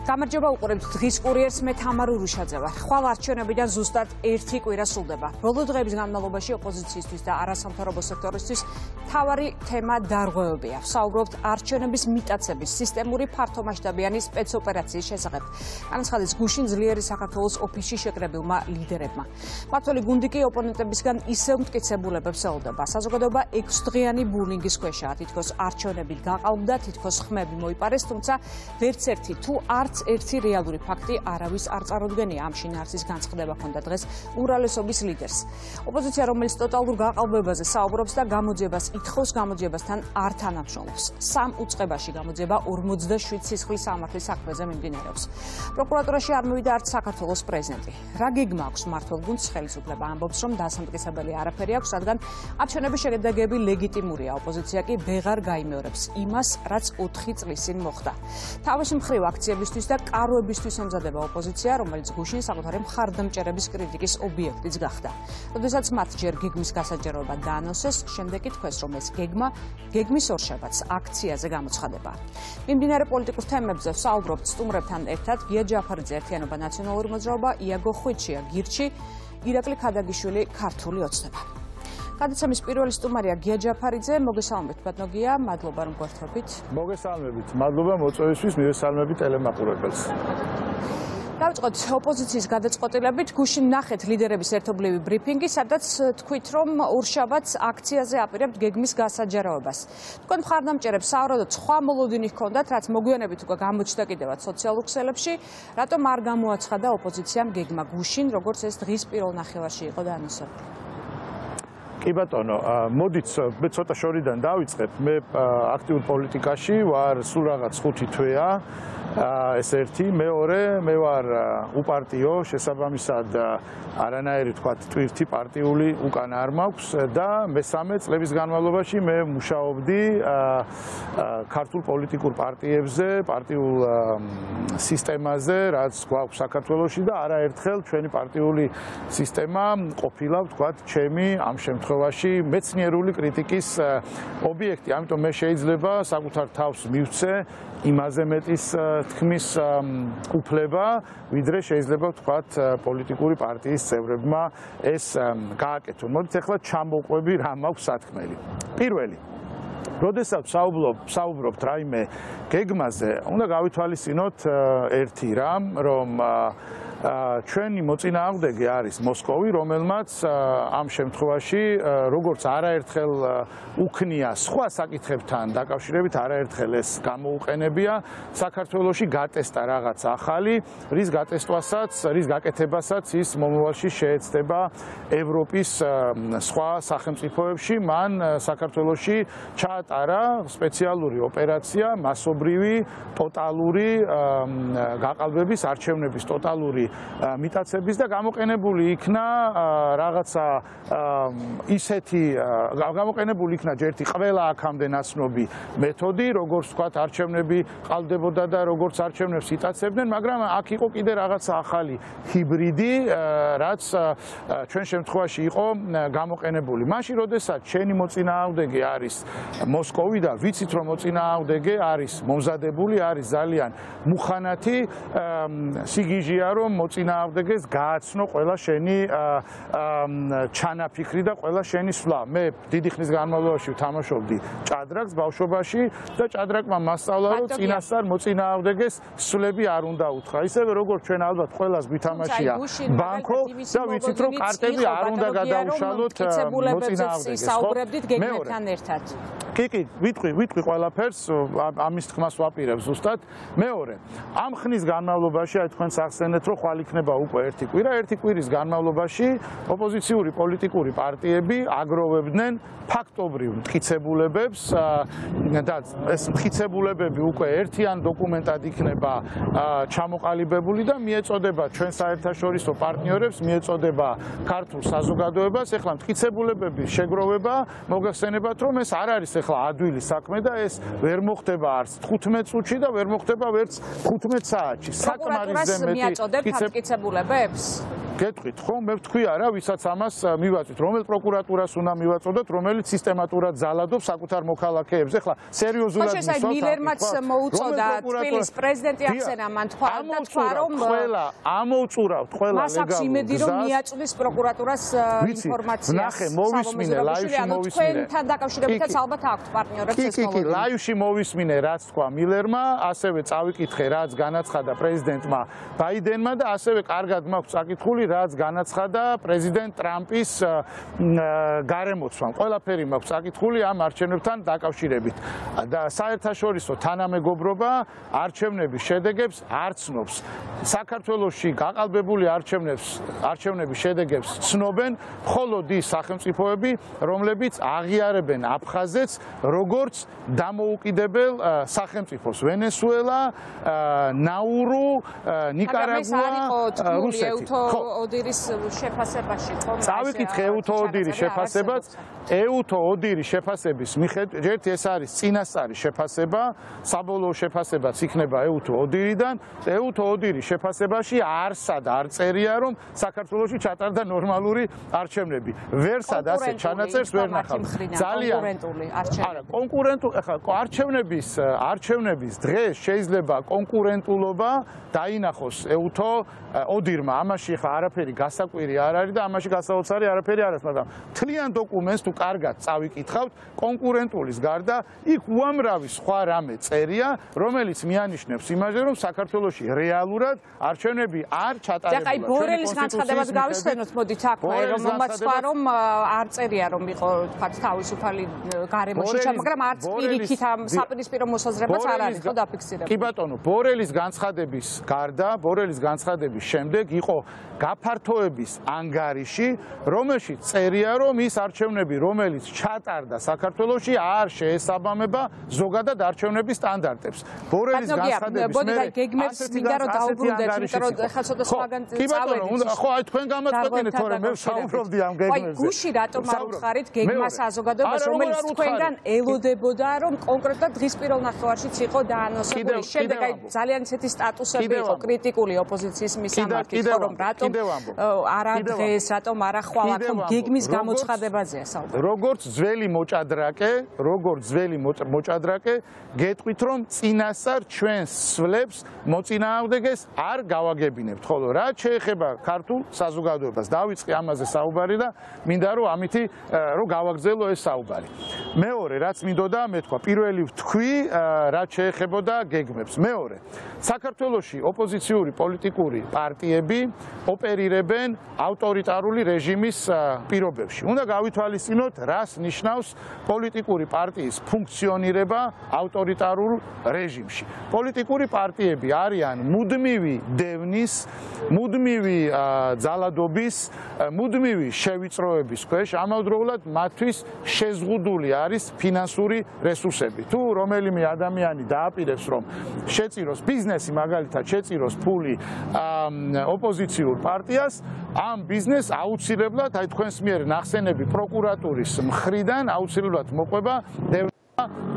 გამარჯობა უყურებთ დღის კურიერს, მე თამარ ურუშაძე ვარ. ხვალ არჩევნებიდან ზუსტად 1 კვირა სრულდება. ბოლო დღეების განმავლობაში ოპოზიციისთვის და არასამთავრობო სექტორისთვის მთავარი თემა დარღვევებია. ვსაუბრობთ არჩევნების მიტაცების სისტემური ფართომასშტაბიანი სპეცოპერაციის შესახებ. განაცხადეს გუშინ ძლიერი საქართველოს ოფისში შეკრებილმა ლიდერებმა. მმართველი გუნდი კი ოპონენტებისგან ისევ მტკიცებულებებს ელოდება. საზოგადოება 6 დღიანი ბულინგის ქვეშაა. თითქოს არჩევნებით გაყალბდა, თითქოს ხმები მოიპარეს, თუმცა ვერც ერთი თუ არც ერთი რეალური ფაქტი არავის არ წარუდგენია. ამ შინაარსის განცხადება ჰქონდა დღეს ურალესობის ლიდერს. ოპოზიცია, რომელიც ტოტალურ გაყალბებაზე საუბრობს და გამოძიებას ითხოვს, გამოძიებასთან არ თანამშრომლობს. 3 უწყებაში გამოძიება 47 სისხლის სამართლის საქმეზე მიმდინარეობს. პროკურატურაში არ მოვიდა არც საქართველოს პრეზიდენტი. რა გეგმა აქვს მმართველ გუნდს? ხელისუფლება ამბობს, რომ დასამტკიცებელი არაფერი აქვს, რადგან არჩევნების შედეგები ლეგიტიმურია. ოპოზიცია კი ვეღარ გაიმეორებს იმას, რაც 4 წლის წინ მოხდა. თავის მხრივ აქციებისთვის და კაროებისთვის ემზადება ოპოზიცია, რომელიც გუშინ საკუთარი მხარდამჭერების კრიტიკის ობიექტიც გახდა. როდესაც მათ ჯერ გეგმის გასაჯაროება დაანონსეს, შემდეგ კი თქვეს, რომ ეს გეგმის ორშაბათს აქციაზე გამოცხადება. მიმდინარე პოლიტიკურ თემებზე ვსაუბრობთ სტუმრებთან ერთად. გია ჯაფარიძე, ერთიანობა ნაციონალური მოძრაობა, იაგო ხვიჩია, გირჩი, ირაკლი ქადაგიშვილი, ქართული ოცნება. გადაცემის პირველი სტუმარია გია ჯაფარიძე. მოგესალმებით, ბატონო გია, მადლობა რომ გვერდებით. მოგესალმებით, მადლობა მოწვევისთვის, მივესალმებით ტელემაყურებელს. დავიწყოთ ოპოზიციის გადაწყვეტილებით. გუშინ ნახეთ ლიდერების ერთობლივი ბრიფინგი, სადაც თქვით, რომ ორშაბათს აქციაზე აპირებთ გეგმის გასაჯაროებას. თქვენ მხარდამჭერებს სავარაუდოდ სხვა მოლოდინი ჰქონდათ, რაც მოგვიანებით უკვე გამოჩნდა კიდევაც სოციალურ ქსელებში. რატომ არ გამოაცხადა ოპოზიციამ გეგმა გუშინ, როგორც ეს დღის პირველ ნახევარში იყო დაანონსებული? კი ბატონო, მოდით მე ცოტა შორიდან დავიწყებ. მე აქტიურ პოლიტიკაში ვარ სულ რაღაც 5 თვეა. ეს ერთი, მეორე, მე ვარ უპარტიო, შესაბამისად არანაირი თქვა ტვირთი პარტიული უკან არ მაქვს და მესამე წლების განმავლობაში მე მუშაობდი ქართულ პოლიტიკურ პარტიებზე, პარტიულ სისტემაზე, რაც გვაქვს საქართველოში და არაერთხელ ჩვენი პარტიული სისტემა ყოფილა, თქვა, ჩემი ამ შემთხვევაში მეცნიერული კრიტიკის ობიექტი. ამიტომ მე შეიძლება საკუთარ თავს მივცე იმაზე მეტის თქმის უფლება, ვიდრე შეიძლება ვთქვათ პოლიტიკური პარტიის წევრებმა ეს გააკეთონ. მოდით ახლა ჩამოვყვები რა მაქვს სათქმელი. პირველი, როდესაც საუბრობთ რაიმე გეგმაზე, უნდა გავითვალისწინოთ ერთი რამ, რომ ჩვენი მოწინააღმდეგე არის მოსკოვი, რომელმაც ამ შემთხვევაში როგორც არაერთხელ უქნია სხვა საკითხებთან დაკავშირებით, არაერთხელ ეს გამოუყენებია, საქართველოში გატესტა რაღაც ახალი, რის გაკეთებასაც ის მომავალში შეეცდება ევროპის სხვა სახელმწიფოებში. მან საქართველოში ჩაატარა სპეციალური ოპერაცია, მასობრივი, ტოტალური გაყალბების, არჩევნების ტოტალური მიტაცების და გამოყენებული იქნა რაღაცა ისეთი გამოყენებული იქნა ჯერთი ყველა აქამდე ნაცნობი მეთოდი, როგორც ვთქვათ, არჩევნები ყალბდებოდა და როგორც არჩევნებს იტაცებდნენ, მაგრამ აქ იყო კიდე რაღაცა ახალი ჰიბრიდი, რაც ჩვენ შემთხვევაში იყო გამოყენებული. მაშინ, როდესაც ჩვენი მოწინააღმდეგე არის მოსკოვი და ვიცით, რომ მოწინააღმდეგე არის მომზადებული, არის ძალიან მუხანათი, სიგიჟეა, რომ მოწინააღმდეგეს გააცნო ყველა შენი ჩანაფიქრი და ყველა შენი სვლა. მე დიდი ხნის განმავლობაში ვთამაშობდი ჭადრაკს ბავშვობაში და ჭადრაკმა მასწავლა, რომ წინასწარ მოწინააღმდეგეს სვლები არ უნდა უთხრა. ისევე როგორც ჩვენ ალბათ ყველას გვითამაშია ბანკო და ვიცით, რომ კარტები არ უნდა გადაუშალოთ მოწინააღმდეგეს. საუბრებდით გეგმებთან ერთად. კი, ვიტყვი ყველაფერს, ამის თქმას ვაპირებ ზუსტად. მეორე, ამ ხნის განმავლობაში აი თქვენ სახსენეთ, რომ ხვალ იქნება უკვე 1 კვირა, 1 კვირის განმავლობაში ოპოზიციური პოლიტიკური პარტიები აგროვებდნენ ფაქტობრივ მტკიცებულებებს და ეს მტკიცებულებები უკვე ერთიან დოკუმენტად იქნება ჩამოყალიბებული და მიეწოდება ჩვენ საერთაშორისო პარტნიორებს, მიეწოდება ქართულ საზოგადოებას. ეხლა მტკიცებულებების შეგროვება მოგახსენებათ, რომ ეს არ არის ეხლა ადვილი საქმე და ეს ვერ მოხდება არც 15 წუთში და ვერ მოხდება ვერც 15 საათში. საკმარისზე მეტი მტკიცებულებებს? გეტყვით ხო, მე ვთქვი არა, ვისაც ამას მივაწვით, რომელ პროკურატურას უნდა მივაწოდოთ, რომელიც სისტემატურად ძალადობს საკუთარ მოქალაქეებზე. ხლა სერიოზულად მისვათ. მილერმაც მოუწოდა თბილისის პრეზიდენტი ახსენა მან თქვა რომ ამოუწურავთ ყველა მას აქვს იმედი რომ მიაწვდის პროკურატურას ინფორმაციას. ნახე, მოვისმინე ლაივში მოვისმინე. თქვენთან დაკავშირებითაც ალბათ აქვთ პარტნიორებს ეს კი, ლაივში მოვისმინე რაც თქვა მილერმა, ასევე წავიკითხე რაც განაცხადა პრეზიდენტმა ბაიდენმა და ასევე კარგად მაქვს წაკითხული რაც განაცხადა პრეზიდენტ ტრამპის გარემოცვამ. ყველაფერი მაქვს წაკითხული ამ არჩევნებთან დაკავშირებით. და საერთაშორისო თანამეგობრობა არჩევნების შედეგებს არ ცნობს. საქართველოში გაყალბებული არჩევნების შედეგებს ცნობენ მხოლოდ ის სახელმწიფოები, რომლებიც აღიარებენ აფხაზეთს როგორც დამოუკიდებელ სახელმწიფოს. ვენესუელა, ნაურუ, ნიკარაგუა, რუსეთი. ოდირის შეფასებაში ხო? წავიკითხე ეუთო ოდირის შეფასებაც. ეუთო ოდირის შეფასების მიხედვით, ერთი ეს არის წინასწარი შეფასება, საბოლოო შეფასებაც იქნება ეუთო ოდირიდან. ეუთო ოდირის შეფასებაში არსად არ წერია, რომ საქართველოში ჩატარდა ნორმალური არჩევნები. ვერსად ასე ჩანაწერს ვერ ნახავ. ძალიან კონკურენტული არჩევნები. არა, კონკურენტული, ახლა არჩევნების დღეს შეიძლება კონკურენტულობა დაინახოს ეუთო ოდირმა. ამაში ხა არაფერი გასაკვირი არ არის და ამაში გასაოცარი არაფერი არ არის, მაგრამ თლიან დოკუმენტს თუ კარგად წავიკითხავთ, კონკურენტულის გარდა იქ უამრავი სხვა რამე წერია, რომელიც მიანიშნებს იმაზე, რომ საქართველოში რეალურად არჩევნები არ ჩატარებულა. აი ბორელის განცხადებას გავისვენოთ, მოდით აქ, რომელმაც თქვა, რომ არ წერია, რომ იყო თქვათ თავისუფალი გარემოში, მაგრამ არც პირიქით ამ საპირისპირო მოსაზრებაც არ არის ხო დაფიქსირებული. კი ბატონო, ბორელის განცხადების გარდა, ბორელის განცხადების შემდეგ იყო გაფართოების ანგარიში, რომელშიც წერია, რომ ის არჩევნები, რომელიც ჩატარდა საქართველოში, არ შეესაბამება ზოგადად არჩევნების სტანდარტებს. ბორელის განცხადების მე გეგმებს მინდა რომ დაუბრუნდეთ, იმიტომ რომ ხა ცოტა სხვაგან წავედით. ხო, აი თქვენ გამაწყვეტინეთ, თორემ მე ვსაუბრობდი ამ გეგმებზე. აი გუში რატომ არ უთხარით გეგმას საზოგადოებას, რომელიც თქვენგან ელოდებოდა, რომ კონკრეტულად დღის პირველ ნახევარშიც იყო დაანონსებული. შემდეგ აი ძალიან ისეთი სტატუსები იყო კრიტიკული ოპოზიციის მისამართით, ხო რომ რატომ არა დღეს, რატომ არა ხვალ, აქ გეგმის გამოცხადებაზეა საუბარი. როგორც ძველი მოჭადრაკე, გეტყვით რომ წინასწარ ჩვენს სვლებს მოწინააღმდეგეს არ გავაგებინებთ, ხოლო რაც შეეხება ქართულ საზოგადოებას, დავიწყე ამაზე საუბარი და მინდა რომ ამითი რომ გავაგრძელო ეს საუბარი. მეორე, რაც მინდოდა მეთქვა, პირველი ვთქვი, რაც შეეხებოდა გეგმებს. მეორე, საქართველოში ოპოზიციური პოლიტიკური პარტიები ოპერირებენ ავტორიტარული რეჟიმის პირობებში. უნდა გავითვალისწინოთ, რას ნიშნავს პოლიტიკური პარტიის ფუნქციონირება ავტორიტარულ რეჟიმში. პოლიტიკური პარტიები არიან მუდმივი დევნის, მუდმივი ძალადობის, მუდმივი შევიწროების ქვეშ, ამავდროულად მათთვის შეზღუდული არის ფინანსური რესურსები. თუ რომელიმე ადამიანი დააპირებს, რომ შეწიროს ბიზნესი, მაგალითად შეწიროს ფული ოპოზიციურ პარტიას, ამ ბიზნესს აუცილებლად, აი თქვენს მიერ ნახსენები პროკურატურის მხრიდან აუცილებლად მოყვება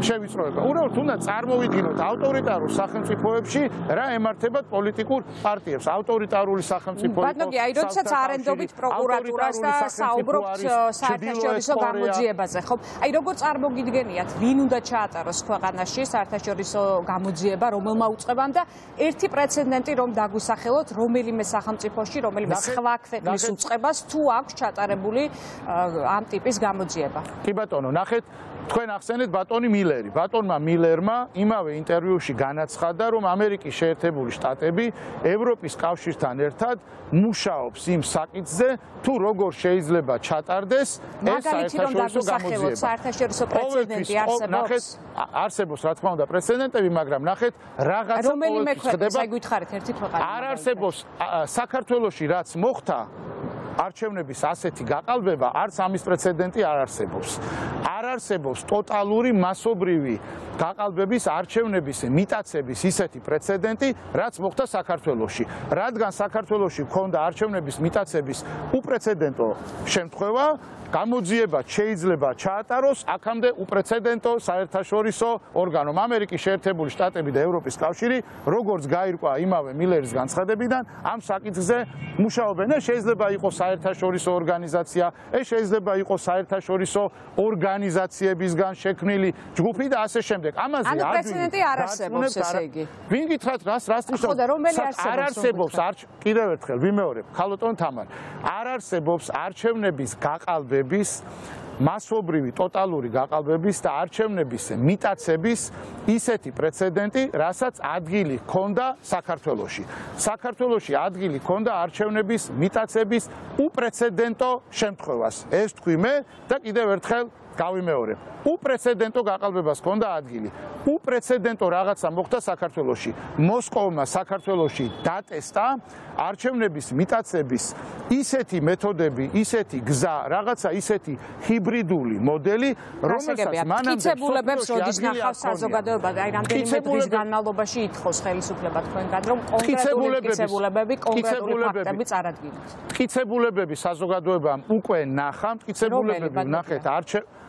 შევიწროება. უბრალოდ უნდა წარმოვიდგინოთ ავტორიტარულ სახელმწიფოებში რა ემართებათ პოლიტიკურ პარტიებს. ავტორიტარული სახელმწიფო იყო. აი, როდესაც არენდობით პროკურატურას და საუბრობთ საერთაშორისო გამოძიებაზე, ხო? აი, როგორ წარმოგიდგენიათ, ვინ უნდა ჩაატაროს ქვეყანაში საერთაშორისო გამოძიება, რომელმა უწყებამ და ერთი პრეცედენტი რომ დაგვისახელოთ, რომელიმე სახელმწიფოში, რომელიმე სხვა ქვეყნის უწყებას თუ აქვს ჩატარებული ამ ტიპის გამოძიება. კი ბატონო, ნახეთ თქვენ ახსენეთ ბატონი მილერი. ბატონმა მილერმა იმავე ინტერვიუში განაცხადა, რომ ამერიკის შეერთებული შტატები ევროპის კავშირთან ერთად მუშაობს იმ საკითხზე, თუ როგორ შეიძლება ჩატარდეს ეს საერთაშორისო გამოძიება. საერთაშორისო პრეცედენტი არსებობს. არსებობს, რა თქმა უნდა, პრეცედენტები, მაგრამ ნახეთ, რაღაცა რომელიმე ქვეყნის, აი გითხარით ერთი ქვეყანა. არ არსებობს საქართველოში რაც მოხდა არჩევნების ასეთი გაყალბება, არც ამის პრეცედენტი არ არსებობს. არ არსებობს ტოტალური მასობრივი გაყალბების არჩევნების მიტაცების ისეთი პრეცედენტი, რაც მოხდა საქართველოში. რადგან საქართველოში ჰქონდა არჩევნების მიტაცების უპრეცედენტო შემთხვევა, გამოძიება შეიძლება ჩაატაროს აქამდე უპრეცედენტო საერთაშორისო ორგანომ ამერიკის შეერთებული შტატები და ევროპის კავშირი, როგორც გაირკვა იმავე მილერის განცხადებიდან, ამ საკითხზე მუშაობენ. ეს შეიძლება იყოს საერთაშორისო ორგანიზაცია, ეს შეიძლება იყოს საერთაშორისო ორგანიზაციებისგან შექმნილი ჯგუფი და ასე შემდეგ. ამაზე ანუ პრეცედენტი არ არსებობს, ესე იგი. ვინ გითხრათ რას თვითონ? ხო და რომელი არ არსებობს კიდევ ერთხელ ვიმეორებ, ქალბატონ თამარ. არ არსებობს არჩევნების გაყალბების მასობრივი ტოტალური გაყალბების და არჩევნების მიტაცების ისეთი პრეცედენტი, რასაც ადგილი ჰქონდა საქართველოში. საქართველოში ადგილი ჰქონდა არჩევნების მიტაცების უპრეცედენტო შემთხვევას. ეს თქვი მე და კიდევ ერთხელ გავიმეორებ. უპრეცედენტო გაყალბებას ჰქონდა ადგილი. უპრეცედენტო რაღაცა მოხდა საქართველოში. მოსკოვმა საქართველოში დატესტა არჩევნების მიტაცების ისეთი მეთოდები, ისეთი გზა, რაღაცა ისეთი ჰიბრიდული მოდელი, რომელსაც მანამდე მტკიცებულებებს როდის ნახავს საზოგადოება, აი რამდენიმე დღის განმავლობაში ითხოვს ხელისუფლება თქვენგან, რომ კონკრეტული მტკიცებულებები, კონკრეტული ფაქტები წარადგინოთ. მტკიცებულებები საზოგადოებამ უკვე ნახა, მტკიცებულებები ვნახეთ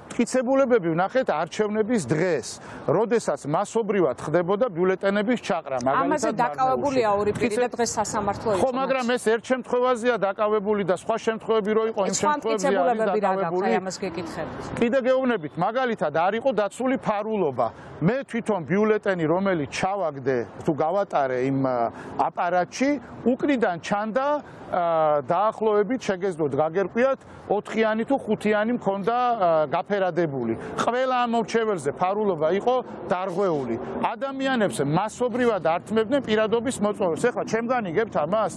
მტკიცებულებები ვნახეთ არჩევნების დღეს, როდესაც მასობრივად ხდებოდა ბიულეტენების ჩაყრა, მაგალითად ამაზე დაკავებულია ორი პირი და დღეს სასამართლო იყო. ხო, მაგრამ ეს ერთ შემთხვევაზეა დაკავებული და სხვა შემთხვევები რო იყო, იმ შემთხვევებში არის დაკავებული. ამას გეკითხებით. კიდე გეუბნებით, მაგალითად არ იყო დაცული ფარულობა. მე თვითონ ბიულეტენი, რომელიც ჩავაგდე, თუ გავატარე იმ აპარატში, უკრიდან ჩანდა დაახლოებით შეგეძლოთ გაგერკვიათ 4-იანი თუ 5-იანი მქონდა გაფერადებული. ყველა ამ მორჩეველზე ფარულობა იყო დარღვეული. ადამიანებს მასობრივად ართმევდნენ პირადობის მოწვევებს. ეხლა ჩემგან იგებთ ამას?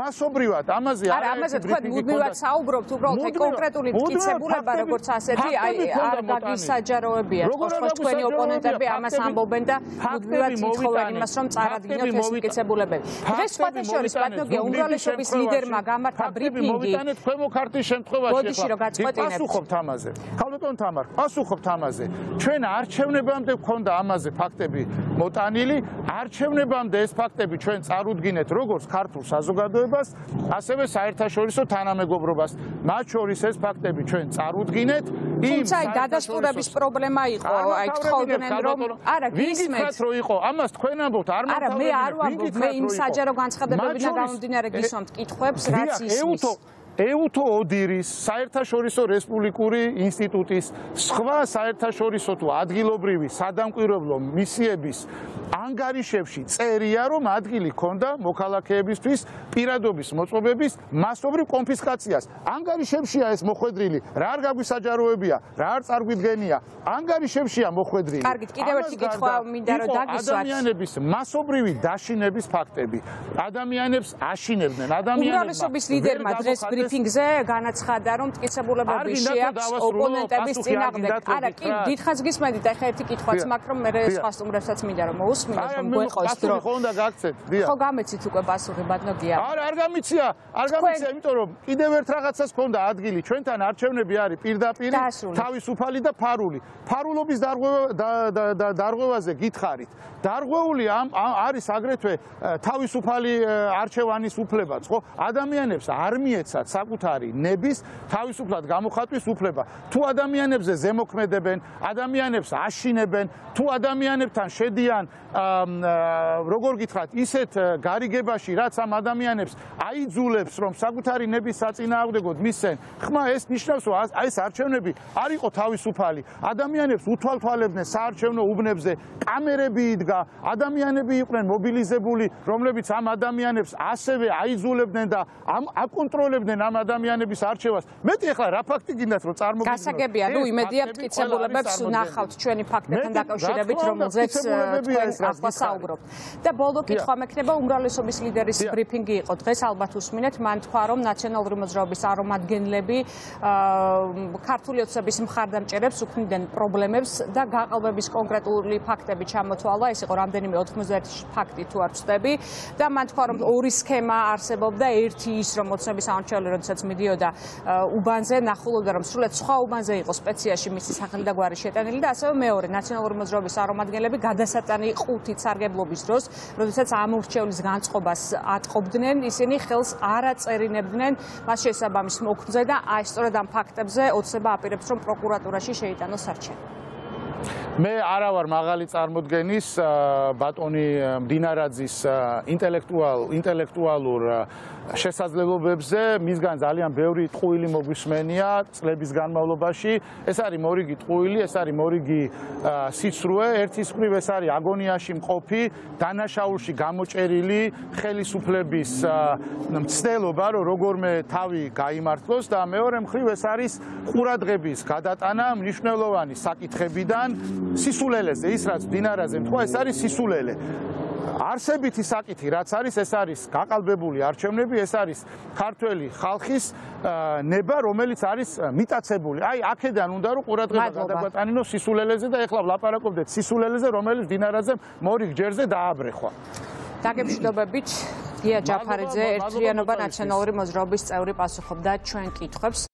მასობრივად ამაზე არა, ამაზე თქვენ მუდმივად საუბრობთ, უბრალოდ კონკრეტული მტკიცებულება როგორც ასეთი, აი არ გაგისაჯაროებიათ, ხო თქვენი ოპონენტები ამას ამბობენ და მუდმივად ითხოვენ იმას, რომ წარადგინოთ ეს მტკიცებულებები. დღეს სხვათა შორის პატნოგია უმრავლესობის ლიდერმა გამართა ბრიფინგი. მოვიტანეთ ქვემო ქართლის შემთხვევაში. ბოდიში რომ გაწყვეტინებთ. პასუხობთ ამაზე. ქალბატონ თამარ, პასუხობთ ამაზე. ჩვენ არჩევნებამდე გქონდა ამაზე ფაქტები მოტანილი, არჩევნებამდე ეს ფაქტები ჩვენ წარუდგინეთ როგორც ქართულ საზოგადოებას, ასევე საერთაშორისო თანამეგობრობას. მათ შორის ეს ფაქტები ჩვენ წარუდგინეთ. თუმცა დადასტურების პრობლემა იყო, აი თხოვდნენ რომ არა გისმენთ რომ იყო, ამას თქვენ ამბობთ, არ არა მე არ ვამბობ, მე იმ საჯარო განცხადებებიდან გამომდინარე გისვამთ კითხვებს, რაც ისმის. ეუთო ოდირის საერთაშორისო რესპუბლიკური ინსტიტუტის სხვა საერთაშორისო თუ ადგილობრივი სადამკვირვებლო მისიების ანგარიშებში წერია, რომ ადგილი ჰქონდა მოქალაქეებისთვის პირადობის მოწყობების მასობრივ კონფისკაციას. ანგარიშებშია ეს მოხვედრილი, რა არ გაგვისაჯაროებია, რა არ წარგვიდგენია. ანგარიშებშია მოხვედრილი. კარგით, კიდევ ერთი კითხვა მინდა რომ დაგისვათ. ადამიანების მასობრივი დაშინების ფაქტები. ადამიანებს აშინებდნენ, უმრავლესობის ლიდერმა დღეს ბრიფინგზე განაცხადა, რომ მტკიცებულებები შეაქვს ოპონენტების წინააღმდეგ. არა, კი, დიდხანს გისმენთ, ეხლა ერთი კითხვაც მაქვს, რომ მე სხვა სტუმრებსაც მინდა რომ მოусმინოთ, რომ გვეყოს დრო. ხო, უნდა გაგცეთ, დიახ. ხო, გამეცით უკვე პასუხი, ბატონია. არა, არ გამიცია, იმიტომ რომ კიდევ ერთ რაღაცას ჰქონდა ადგილი. ჩვენთან არჩევნები არის პირდაპირ თავისუფალი და ფარული. ფარულობის დარღვევაზე გითხარით. დარღვეული არის აგრეთვე თავისუფალი არჩევანის უფლებაც, ხო? ადამიანებს არ მიეცათ საკუთარი ნების თავისუფლად გამოხატვის უფლება. თუ ადამიანებზე ზემოქმედებენ, ადამიანებს აშინებენ, თუ ადამიანებთან შედიან, როგორ გითხრათ, ისეთ გარიგებაში, რაც ამ ადამიანებს აიძულებს, რომ საკუთარი ნების საწინააღმდეგოდ მისცენ, ხმა ეს ნიშნავს, რომ აი ეს არჩევნები არ იყო თავისუფალი. ადამიანებს უთვალთვალებდნენ საარჩევნო უბნებზე, კამერები იდგა, ადამიანები იყვნენ მობილიზებული, რომლებიც ამ ადამიანებს ასევე აიძულებდნენ და აკონტროლებდნენ ამ ადამიანების არჩევას. მეტი ახლა რა ფაქტი გინდათ რომ წარმოგიდგინოთ? გასაგებია, ნუ იმედია მტკიცებულებებს ნახავთ ჩვენი ფაქტებთან დაკავშირებით, რომელზეც თქვენ ახლა საუბრობთ. და ბოლო კითხვა მექნება, უმრავლესობის ლიდერის ბრიფინგი იყო დღეს, ალბათ უსმინეთ, მან თქვა, რომ ნაციონალური მოძრაობის წარმომადგენლები ქართული ოცნების მხარდამჭერებს უქმნიდნენ პრობლემებს და გაყალბების კონკრეტული ფაქტები ჩამოთვალა, ეს იყო რამდენიმე 91 ფაქტი თუ არ ვწდები და მან თქვა რომ ორი სქემა არსებობდა ერთი ის რომ მოცნების სამორჩევლე როდესაც მიდიოდა უბანზე ნახულობდა რომ სრულად სხვა უბანზე იყო სპეციაში მისი სახელი და გვარი შეტანილი და ასევე მეორე ნაციონალური მოძრაობის წარმომადგენლები გადასატანი ყუთით სარგებლობის დროს როდესაც ამორჩევლის განწყობას ატყობდნენ ისინი ხელს არ აწერინებდნენ მას შესაბამის მოქმედზე და აი სწორედ ამ ფაქტებზე ოცნება აპირებს რომ პროკურატურაში შეიტანოს არჩევანი. მე არა ვარ მაღალი წარმოდგენის ბატონი მდინარაძის ინტელექტუალურ შესაძლებლობებზე, მისგან ძალიან ბევრი ტყუილი მოგვისმენია წლების განმავლობაში. ეს არის მორიგი ტყუილი, ეს არის მორიგი სიცრუე, ერთის მხრივ ეს არის აგონიაში მყოფი, დანაშაულში გამოჭერილი ხელისუფლების მცდელობა, რომ როგორმე თავი გაიმართლოს და მეორე მხრივ ეს არის ყურადღების გადატანა მნიშვნელოვანი საკითხებიდან სისულელეზე, ის რაც მდინარაძემ თქვა, ეს არის სისულელე. არსებითი საკითხი რაც არის, ეს არის გაყალბებული არჩევნები, ეს არის ქართველი ხალხის ნება, რომელიც არის მიტაცებული. აი, აქედან უნდა რომ ყურადღება გადაგვატანინოს სისულელეზე და ეხლა ვლაპარაკობდეთ სისულელეზე, რომელიც მდინარაძემ მორიგ ჯერზე დააბრეხვა. დაგემშვიდობებით, გია ჯაფარიძე, ერთიანობა ნაციონალური მოძრაობის წევრი პასუხობდა ჩვენ კითხვებს.